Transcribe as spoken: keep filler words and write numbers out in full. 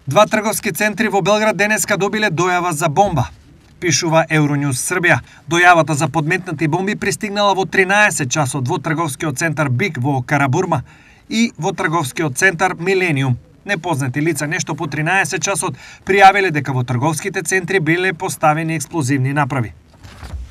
Два трговски центри во Белград денеска добиле дојава за бомба, пишува Euronews Србија. Дојавата за подметнати бомби пристигнала во тринаесет часот во трговскиот центар Биг во Карабурма и во трговскиот центар Милениум. Непознати лица нешто по тринаесет часот пријавиле дека во трговските центри биле поставени експлозивни направи.